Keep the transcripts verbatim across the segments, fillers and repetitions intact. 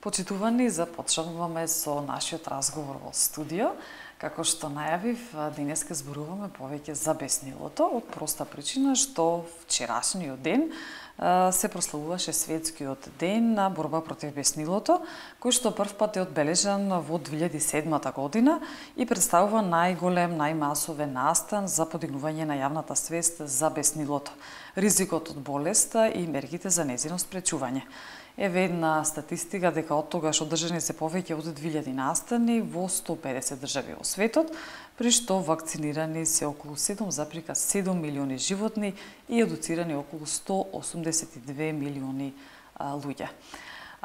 Почитувани, започнуваме со нашиот разговор во студио. Како што најавив, денеска зборуваме повеќе за беснилото, од проста причина што вчерашниот ден се прославуваше светскиот ден на борба против беснилото, кој што првпат е одбележан во две илјади и седма година и представува најголем, најмасовен настан за подигнување на јавната свест за беснилото, ризикот од болеста и мерките за нејзино спречување. Еве една статистика дека од тогаш одржани се повеќе од две илјади настани во сто и педесет држави во светот, при што вакцинирани се околу седум запирка седум милиони животни и едуцирани околу сто осумдесет и две милиони а, луѓе.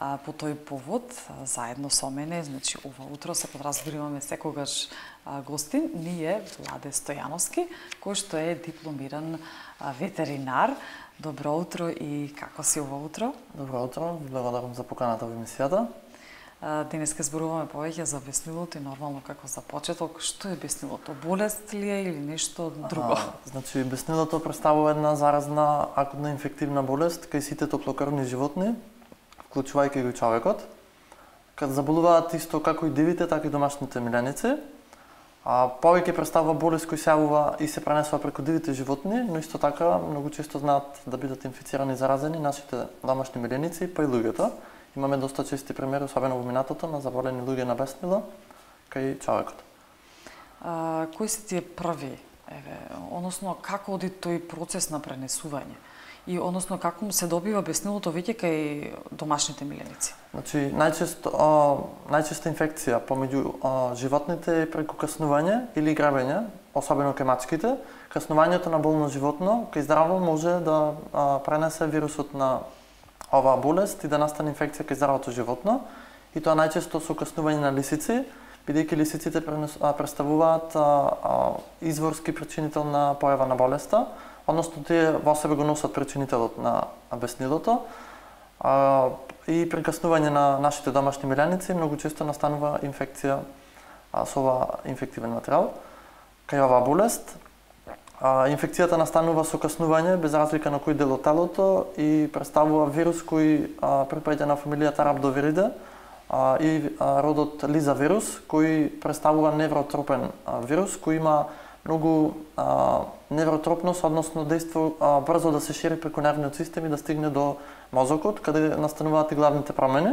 А, по тој повод, заедно со мене, значи ова утро се подразбориваме секогаш а, гостин, ни е Владе Стојановски, кој што е дипломиран а, ветеринар. Добро утро и како си ова утро? Добро утро, благодарам за поканата во емисијата. Денеска зборуваме повеќе за беснилото и нормално како за почеток, што е беснилото? Болест ли е или нешто друго? А, значи, беснилото представува една заразна акутна инфективна болест кај сите топлокрвни животни, вклучувајќи го и човекот. Каде заболуваат исто како и дивите, така и домашните миленици. А повеќе представува болест кој се јавува и се пренесува преку дивите животни, но исто така многу често знаат да бидат инфицирани и заразени нашите домашни миленици, па и луѓето. Имаме доста чести примери, особено во минатото, на заболени луѓе на беснило кај човекот. А, кои се тие први, еве, односно како оди тој процес на пренесување? И односно како се добива беснилото веќе кај домашните миленици? Значи, најчесто а, најчеста инфекција помеѓу а, животните е преку каснување или грабење, особено кај мачките. Каснувањето на болно животно кај здраво може да а, пренесе вирусот на оваа болест и да настане инфекција кај здравото животно. И тоа најчесто со каснување на лисици, бидејќи лисиците представуваат а, а, изворски причинител на појава на болеста. Односно, тие во себе го носат причинителот на беснилото. А, и при каснување на нашите домашни миленици многу често настанува инфекција а, со оваа инфективен материјал. Кај оваа болест, а, инфекцијата настанува со каснување без разлика на кој дел од телото и представува вирус кој а, припаѓа на фамилијата Рhabdoviриdae а, и а, родот Лиза вирус, кој представува невротропен а, вирус кој има многу а, невротропност, односно дејство а, брзо да се шири преку нервниот систем и да стигне до мозокот, каде настануваат и главните промени.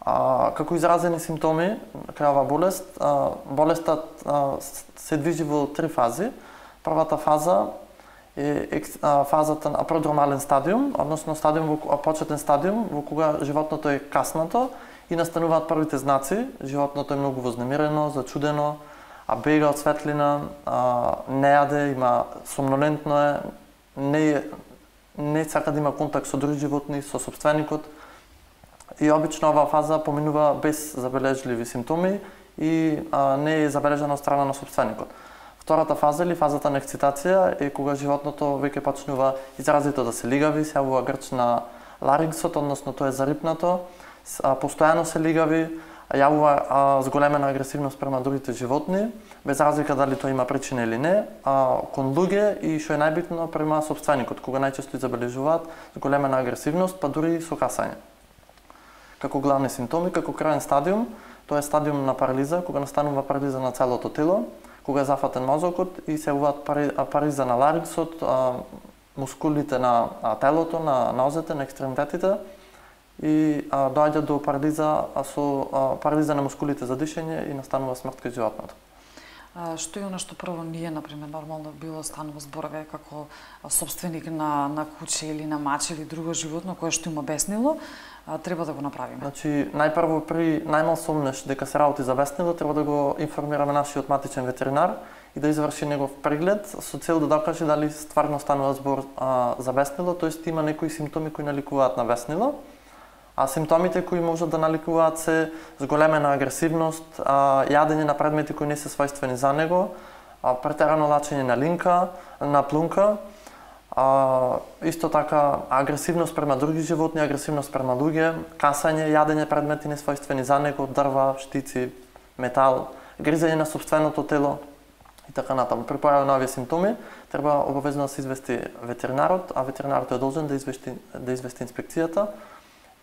А, како изразени симптоми кај оваа болест, а, болестта а, се движи во три фази. Првата фаза е а, фазата на продромален стадиум, односно стадиум во почетен стадиум во кога животното е каснато и настануваат првите знаци. Животното е многу вознемирено, зачудено, а бега од светлина, а, не јаде, има сомнолентно е, не, не сака да има контакт со други животни, со собственикот. И обично оваа фаза поминува без забележливи симптоми и а, не е забележана од страна на собственикот. Втората фаза или фазата на ексцитација е кога животното веќе почнува изразито да се лигави, се јавува грч на ларингсот, односно тоа е зарипнато, а, постојано се лигави, јавува а, зголемена агресивност према другите животни, без разлика дали тоа има причина или не, а, кон луѓе и што е најбитно према собственикот, кога најчесто изабележуваат зголемена агресивност, па дури и со касање. Како главни симптоми, како краен стадиум, тоа е стадиум на парализа, кога настанува парализа на целото тело, кога е зафатен мозокот и се јавуваат пари, парализа на ларингсот, а, мускулите на а, телото, на нозете, на екстремитетите, и а, доаѓа до парализа а, со а, парализа на мускулите за дишење и настанува смрт кај животното. А, што е она што прво ние, например, нормално било станува зборове како собственик на, на куче или на мач или друго животно кое што има беснило, а, треба да го направиме? Значи, најпрво при најмал сомнеш дека се работи за беснило, треба да го информираме нашиот матичен ветеринар и да изврши негов преглед со цел да докаже дали стварно станува збор а, за беснило, тоест има некои симптоми кои наликуваат на беснило. А симптомите кои можат да наликуваат се зголемена агресивност, а, јадење на предмети кои не се својствени за него, а, претерано лачење на линка, на плунка, а, исто така агресивност према други животни, агресивност према луѓе, касање, јадење предмети не својствени за него, дрва, штици, метал, гризење на собственото тело и така натаму. При појава на овие симптоми треба обавезно да се извести ветеринарот, а ветеринарот е должен да извести да извести инспекцијата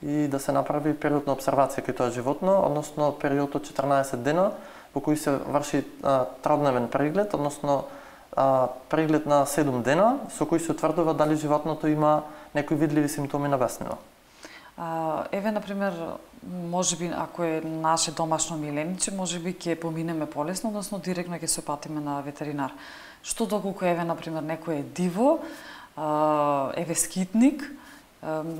и да се направи период на обсервација кај тоа животно, односно период од четрнаесет дена во кој се врши а, тrodневен преглед, односно а, преглед на седум дена со кој се утврдува дали животното има некои видливи симптоми на беснило. А, еве, например, можеби ако е наше домашно милениче, можеби ќе поминеме полесно, односно директно ќе се опатиме на ветеринар. Што доколку еве, например, некој е диво, а, еве скитник,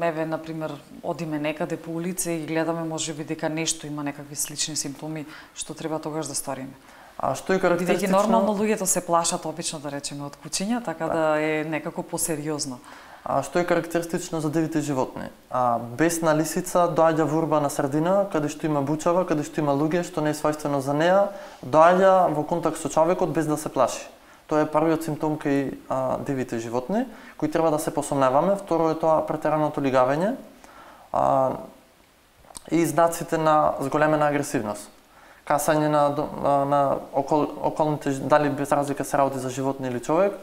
еве, например, одиме некаде по улица и гледаме можеби дека нешто има некакви слични симптоми, што треба тогаш да сториме? А што е карактеристично? Бидејќи нормално луѓето се плашат обично, да речеме, од кучиња, така да е некако посериозно. А што е карактеристично за дивите животни? А, бесна лисица доаѓа во урбана средина, каде што има бучава, каде што има луѓе, што не е својствено за неа, доаѓа во контакт со човекот без да се плаши. Тоа е првиот симптом кај а, дивите животни, кои треба да се посомневаме. Второ е тоа претераното лигавење а, и знаците на зголемена агресивност. Касање на, на окол, околните, дали без разлика се работи за животни или човек,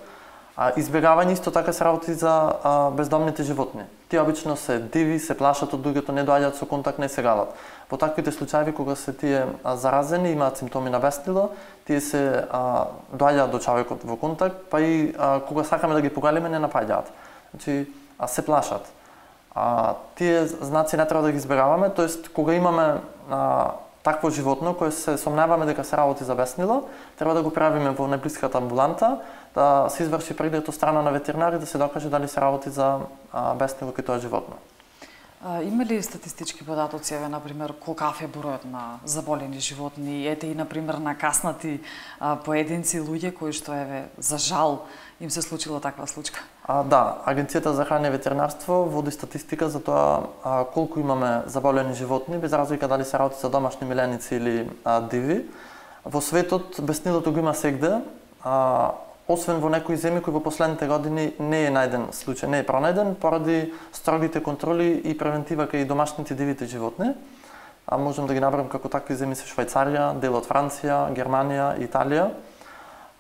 а избегавање исто така се работи за а, бездомните животни. Тие обично се диви, се плашат од луѓето, не доаѓаат со контакт, не се галат. Во таквите случаи кога се тие а, заразени, имаат симптоми на беснило, тие се а, доаѓаат до човекот во контакт, па и а, кога сакаме да ги погалиме, не напаѓаат. Значи, а се плашат. А, тие знаци не треба да ги избегаваме, тоест кога имаме а, такво животно кое се сомневаме дека се работи за беснило, треба да го правиме во најблиската амбуланта, да се изврши преглед од страна на ветеринар и да се докаже дали се работи за а, беснило кај тоа животно. А, има ли статистички податоци, еве, например, колкав е бројот на заболени животни, ете и, например, на каснати а, поединци луѓе кои што, еве, за жал им се случила таква случка? А, да, Агенцијата за храна и ветеринарство води статистика за тоа а, колку имаме заболени животни, без разлика дали се работи за домашни миленици или а, диви. Во светот беснилото го има сегде, а, освен во некои земји кои во последните години не е најден случај, не е пронајден поради строгите контроли и превентива кај домашните дивите животни. А можем да ги набрам како такви земји се Швајцарија, дел од Франција, Германија, Италија.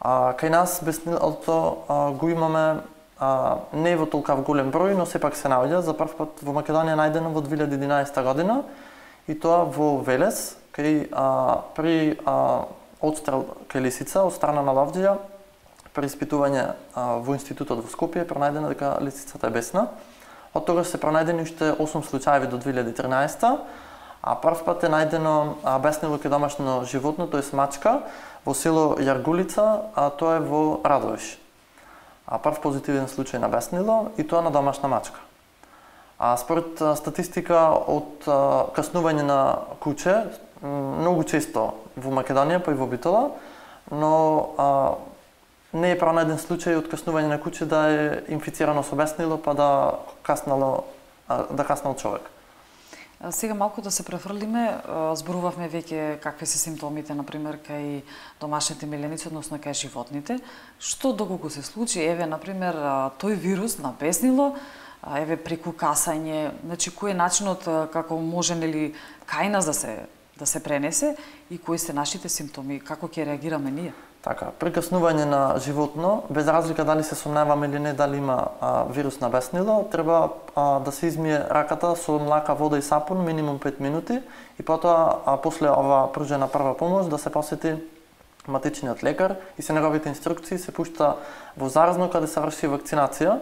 А, кај нас беснилото а, го имаме а, не во толкав голем број, но сепак се наоѓа. За прв пат во Македонија најдено во две илјади и единаесета година и тоа во Велес, кај а, при а, одстрел кај лисица од страна на ловџија. При испитување а, во институтот во Скопје пронајдено дека лисицата е бесна. Од тогаш се пронајдени уште осум случаи до две илјади и тринаесета, а прв пат е најдено а, беснило кај домашно животно, тоест мачка, во село Јаргулица, а тоа е во Радовиш. А прв позитивен случај на беснило и тоа на домашна мачка. А според а, статистика од а, каснување на куче, многу често во Македонија, па и во Битола, но а, не е пронајден случај од каснување на куче да е инфицирано со беснило, па да каснало, да каснал човек. Сега малку да се префрлиме, зборувавме веќе какви се симптомите, например, кај домашните миленици, односно кај животните. Што доколку се случи, еве, например, тој вирус на беснило, еве, преку касање, значи, кој е начинот како може, нели, кај нас да се, да се пренесе и кои се нашите симптоми, како ќе реагираме ние? Така, при каснување на животно, без разлика дали се сомневаме или не дали има а, вирус на беснило, треба а, да се измие раката со млака, вода и сапун минимум пет минути и потоа а, после ова пружена прва помош да се посети матичниот лекар и се неговите инструкции се пушта во заразно каде се врши вакцинација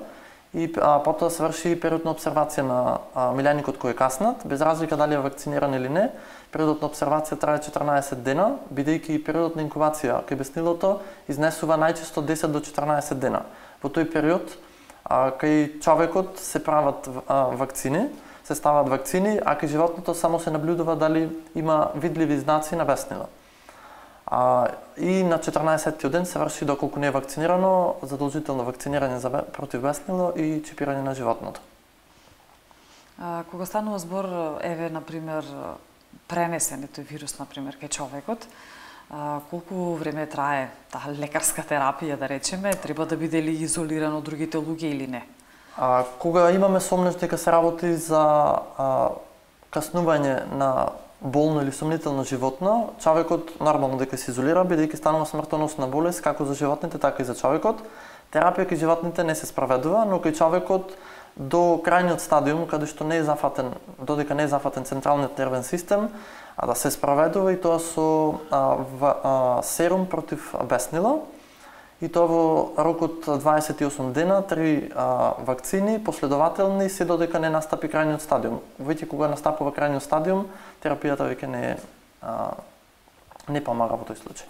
и а, потоа се врши период на обсервација на а, миленикот кој е каснат, без разлика дали е вакциниран или не. Периодот на обсервација трае четрнаесет дена, бидејќи периодот на инкубација кај беснилото изнесува најчесто десет до четрнаесет дена. Во тој период а, кај човекот се прават а, вакцини, се стават вакцини, а кај животното само се наблюдува дали има видливи знаци на беснило. А, и на четрнаесеттиот ден се врши, доколку не е вакцинирано, задолжително вакцинирање за против беснило и чипирање на животното. А, кога станува збор, еве, например, пренесен тој вирус, например, кај човекот, а, колку време трае таа лекарска терапија, да речеме, треба да биде ли изолиран од другите луѓе или не? А, кога имаме сомнеш дека се работи за а, каснување на болно или сомнително животно, човекот нормално дека се изолира, бидејќи станува смртоносна болест како за животните, така и за човекот. Терапија кај животните не се спроведува, но кај човекот до крајниот стадиум, каде што не е зафатен, додека не е зафатен централниот нервен систем, а да се спроведува и тоа со а, в, а, серум против беснила. И тоа во рок од дваесет и осум дена, три а, вакцини последователни, се додека не настапи крајниот стадиум. Веќе кога настапува крајниот стадиум, терапијата веќе не а, не помага во тој случај.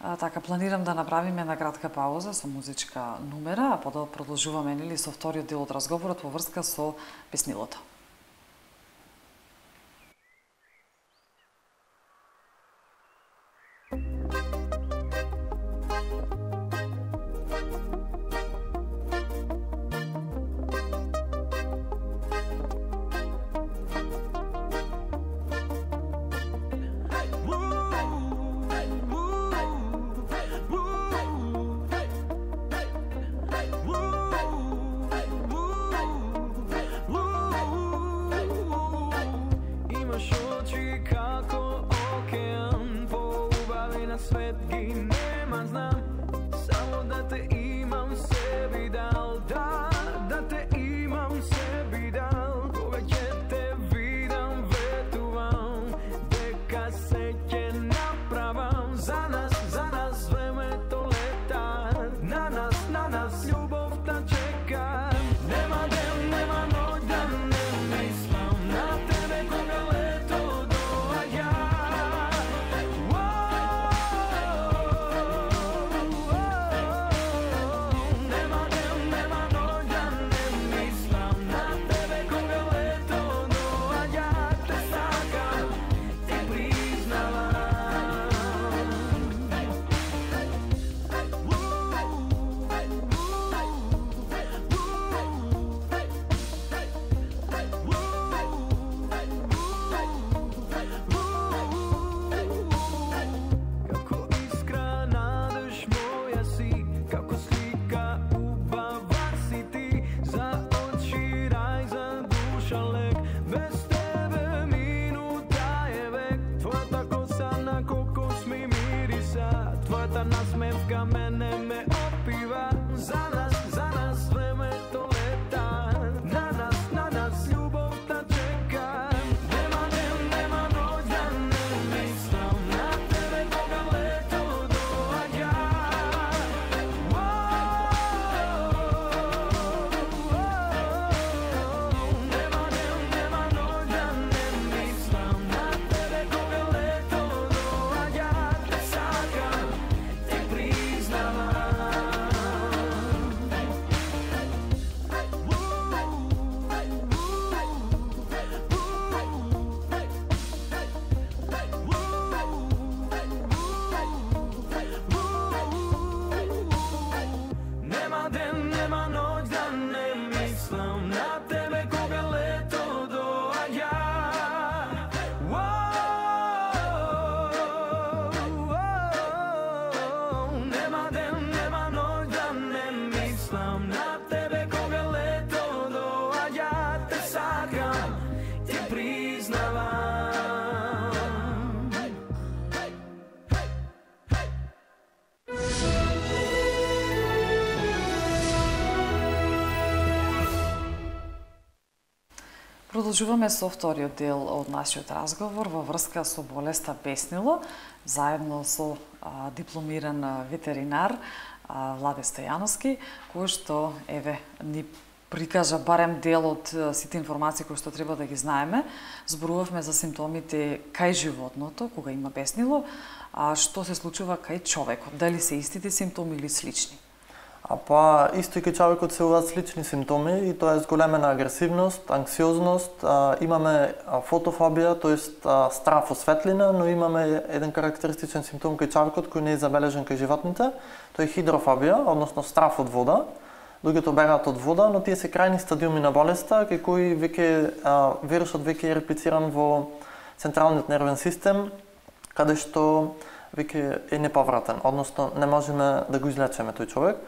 А, така, планирам да направиме една кратка пауза со музичка numera, а потоа продолжуваме нели со вториот дел од разговорот во врска со беснилото. Продолжуваме со вториот дел од нашиот разговор во врска со болеста беснило, заедно со а, дипломиран ветеринар а, Владе Стојановски, кој што еве ни прикажа барем дел од сите информации кои што треба да ги знаеме. Зборувавме за симптомите кај животното кога има беснило, а што се случува кај човекот, дали се истите симптоми или слични? А па исто и кај човекот се уваат слични симптоми и тоа е зголемена агресивност, анксиозност, а, имаме фотофобија, тоест страф од светлина, но имаме еден карактеристичен симптом кај човекот кој не е забележен кај животните, тоа е хидрофобија, односно страф од вода. Луѓето бегаат од вода, но тие се крајни стадиуми на болеста, кај кои веќе а, вирусот веќе е реплициран во централниот нервен систем, каде што веќе е неповратен, односно не можеме да го излечеме тој човек.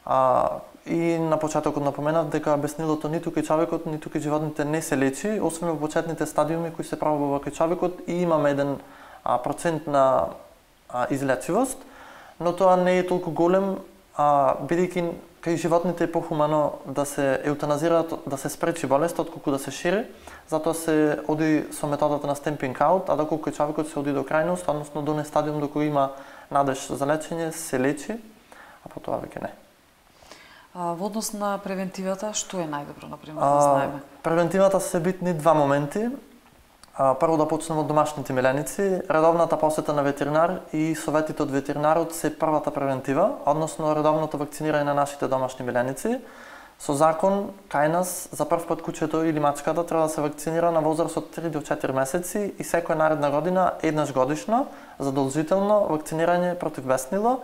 А, и на почетокот напоменав дека беснилото ниту кај човекот, ниту кај животните не се лечи, освен во почетните стадиуми кои се пробува кај човекот и имаме еден а, процент на а, излечивост, но тоа не е толку голем, а, бидејќи кај животните е похумано да се еутаназираат, да се спречи болест, отколку да се шири. Затоа се оди со методата на стемпинг аут, а доколку човекот се оди до крајност, односно до не стадиум до кој има надеж за лечење, се лечи, а потоа веќе не. А, во однос на превентивата, што е најдобро, например, да знаеме? Превентивата се битни два моменти. А, прво да почнеме од домашните миленици. Редовната посета на ветеринар и советите од ветеринарот се првата превентива, односно редовното вакцинирање на нашите домашни миленици. Со закон, кај нас, за прв пат кучето или мачката треба да се вакцинира на возраст од три до четири месеци и секоја наредна година, еднаш годишно, задолжително вакцинирање против беснило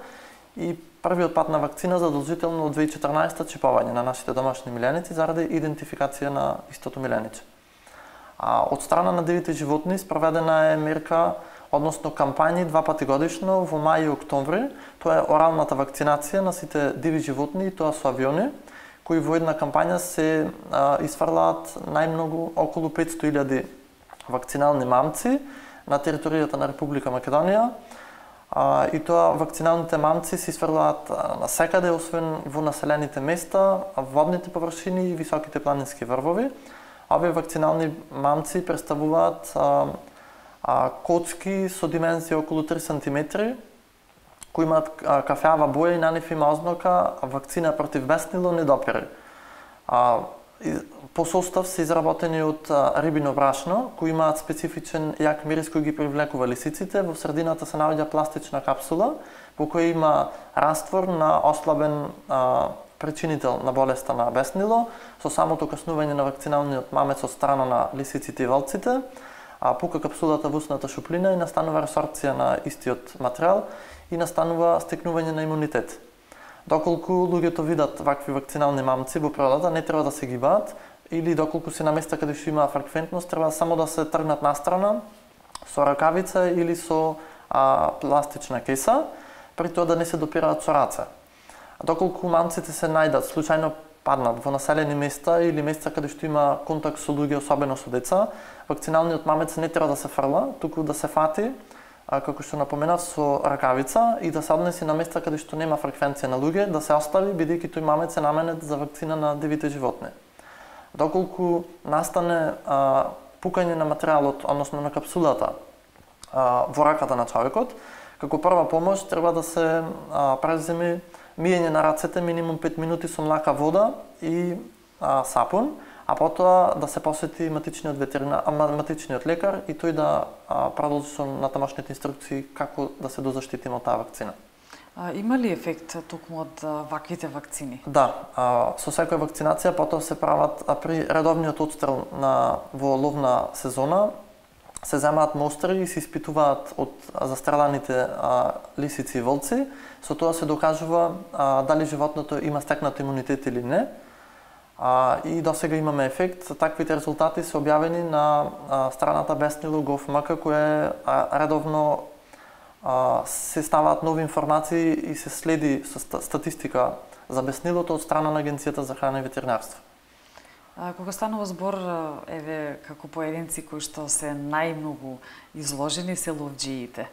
и првиот пат на вакцина задолжително од две илјади и четрнаесета чипување на нашите домашни миленици заради идентификација на истото милениче. А од страна на дивите животни спроведена е мерка, односно кампањи два пати годишно во мај и октомври. Тоа е оралната вакцинација на сите диви животни, и тоа со авиони, кои во една кампања се а, изфрлаат најмногу околу петстотини илјади вакцинални мамци на територијата на Република Македонија. А, и тоа вакциналните мамци се изфрлаат на секаде, освен во населените места, водните површини и високите планински врвови. Овие вакцинални мамци представуваат а, а, кочки со димензија околу три сантиметри, кои имаат кафеава боја и на нив има ознака вакцина против беснило не допири. А, по состав се изработени од рибино брашно, кои имаат специфичен јак мирис кој ги привлекува лисиците. Во средината се наоѓа пластична капсула, во која има раствор на ослабен а, причинител на болеста на беснило, со самото каснување на вакциналниот мамец од страна на лисиците и волците, а пука капсулата во устната шуплина и настанува ресорбција на истиот материјал и настанува стекнување на имунитет. Доколку луѓето видат вакви вакцинални мамци во природата, не треба да се гибаат, или доколку се на места каде што има фреквентност, треба само да се тргнат настрана со ракавица или со а, пластична кеса, при тоа да не се допираат со раце. Доколку мамците се најдат, случајно паднат во населени места или места каде што има контакт со луѓе, особено со деца, вакциналниот мамец не треба да се фрла, туку да се фати, а, како што напоменав, со ракавица и да се однеси на места каде што нема фреквенција на луѓе, да се остави, бидејќи тој мамец е наменет за вакцина на дивите животни. Доколку настане а, пукање на материјалот, односно на капсулата а, во раката на човекот, како прва помош треба да се а, преземи миење на рацете минимум пет минути со млака вода и а, сапун, а потоа да се посети матичниот ветеринар, матичниот лекар и тој да а, продолжи со натамошните инструкции како да се дозаштитиме од таа вакцина. А, има ли ефект токму од ваквите вакцини? Да, а, со секоја вакцинација потоа се прават а при редовниот одстрел на во ловна сезона се земаат мостри и се испитуваат од застреладите а, лисици и волци. Со тоа се докажува а, дали животното има стекнат имунитет или не. А, и досега имаме ефект. Таквите резултати се објавени на а, страната Беснило точка гов точка ем ка, која а, редовно а, се ставаат нови информации и се следи со статистика за беснилото од страна на Агенцијата за храна и ветеринарство. А, кога станува збор, еве, како поединци кои што се најмногу изложени се ловџиите,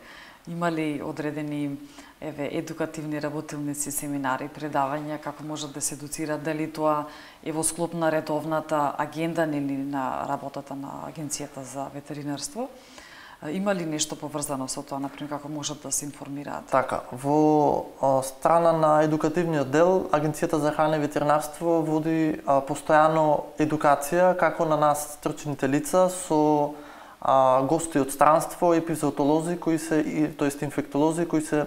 има ли одредени еве едукативни работилници, семинари, предавања, како можат да се едуцираат, дали тоа е во склоп на редовната агенда или на работата на Агенцијата за ветеринарство? Има ли нешто поврзано со тоа, например, како можат да се информираат? Така, во а, страна на едукативниот дел, Агенцијата за храна и ветеринарство води а, постојано едукација како на нас стручните лица со а, гости од странство, епизоотолози кои се, тоест инфектолози кои се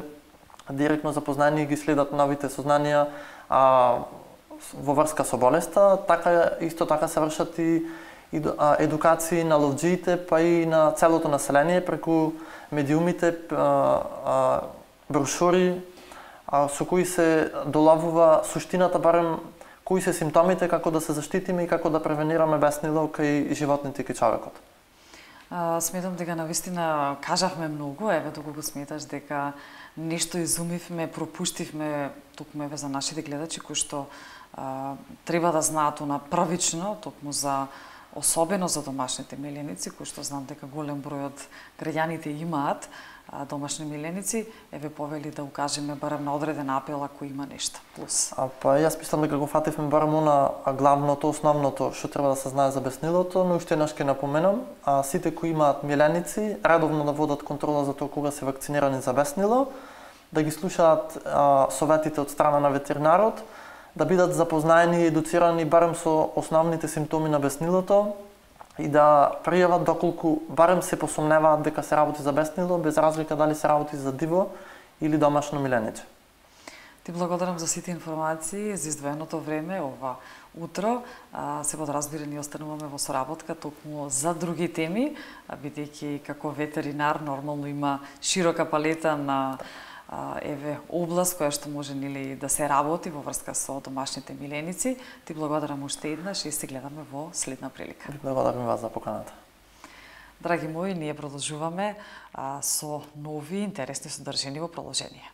директно запознани и ги следат новите сознанија а, во врска со болеста. Така исто така се вршат и едукации на ловџиите, па и на целото население преку медиумите, брошури со кои се долавува суштината, барем кои се симптомите, како да се заштитиме и како да превенираме беснило кај животните и кај човекот. Сметам дека навистина кажавме многу, еве доколку сметаш дека нешто изумивме, пропуштивме токму еве за нашите гледачи кои што а, треба да знаат на првично, токму за особено за домашните меленици, кои што знам дека голем број од граѓаните имаат, домашни миленици, еве повели да укажеме барем на одреден апел ако има нешто плюс. А па јас мислам дека го фативме барем она главното, основното што треба да се знае за беснилото, но уште еднаш ќе напоменам, а сите кои имаат миленици редовно да водат контрола за тоа кога се вакцинирани за беснило, да ги слушаат а, советите од страна на ветеринарот, да бидат запознаени и едуцирани барем со основните симптоми на беснилото и да пријават доколку барем се посомневаат дека се работи за беснило, без разлика дали се работи за диво или домашно миленице. Ти благодарам за сите информации, за издвоеното време ова утро. Се подразбира, ние остануваме во соработка токму за други теми, бидејќи како ветеринар нормално има широка палета на еве област која што може нели да се работи во врска со домашните миленици. Ти благодарам уште еднаш и се гледаме во следна прилика. Благодарам вас за поканата. Драги мои, ние продолжуваме а, со нови интересни содржини во продолжение.